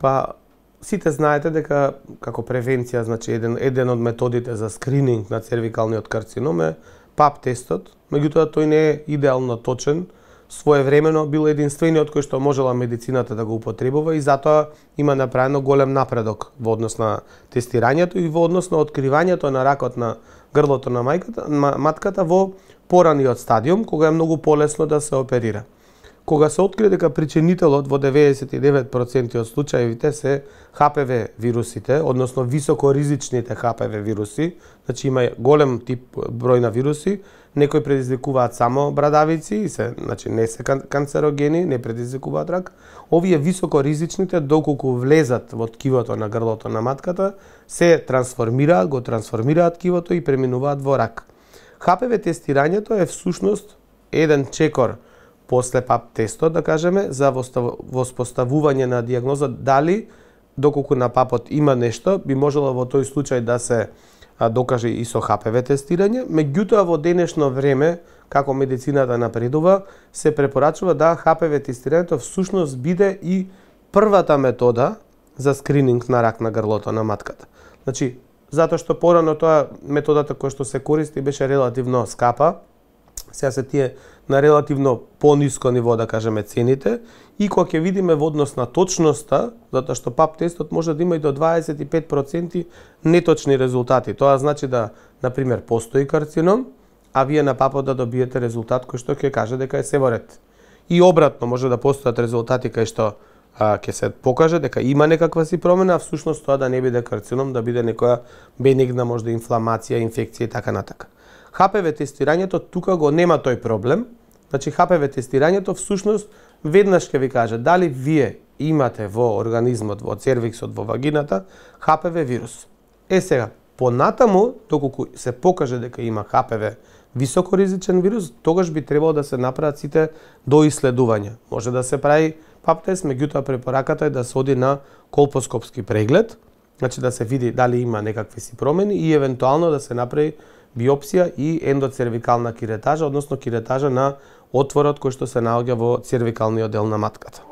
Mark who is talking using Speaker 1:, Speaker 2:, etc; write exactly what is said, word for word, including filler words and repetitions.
Speaker 1: Па сите знаете дека како превенција, значи еден еден од методите за скрининг на цервикалниот карцином е пап тестот, меѓутоа тој не е идеално точен. Своевремено бил единствениот кој што можела медицината да го употребува и затоа има направено голем напредок во однос на тестирањето и во однос на откривањето на ракот на грлото на мајката, матката во пораниот стадиум, кога е многу полесно да се оперира. Кога се откри дека причинителот во деветдесет и девет проценти од случаевите се Х П В вирусите, односно високоризичните Х П В вируси, значи има голем тип број на вируси, некои предизвикуваат само брадавици и се, значи не се кан канцерогени, не предизвикуваат рак. Овие високоризичните доколку влезат во ткивото на грлото на матката, се трансформираат, го трансформираат ткивото и преминуваат во рак. Х П В тестирањето е всушност еден чекор после пап тестот, да кажеме, за воспоставување на дијагноза дали доколку на папот има нешто, би можело во тој случај да се а, докаже и со Х П В тестирање, меѓутоа во денешно време, како медицината напредува, се препорачува да Х П В тестирањето всушност биде и првата метода за скрининг на рак на грлото на матката. Значи, затоа што порано тоа методата која што се користи беше релативно скапа, сега се тие на релативно пониско ниво, да кажеме, цените, и кога ќе видиме во однос на точноста, затоа што пап тестот може да има и до дваесет и пет проценти неточни резултати. Тоа значи да, например, постои карцином, а вие на папот да добиете резултат кој што ќе каже дека е се во ред. И обратно, може да постојат резултати кај што а, ќе се покаже дека има некаква си промена, а всушност тоа да не биде карцином, да биде некоја бенигна можда инфламација, инфекција и така натака. Х П В тестирањето тука го нема тој проблем. Значи Х П В тестирањето всушност веднаш ќе ви каже дали вие имате во организмот, во цервиксот, во вагината Х П В вирус. Е сега, понатаму, доколку се покаже дека има Х П В високоризичен вирус, тогаш би требало да се направат сите доиследувања. Може да се прави пап тест, меѓутоа препораката е да се оди на колпоскопски преглед, значи да се види дали има некакви си промени и евентуално да се направи биопсија и ендоцервикална киретажа, односно киретажа на отворот кој што се наоѓа во цервикалниот дел на матката.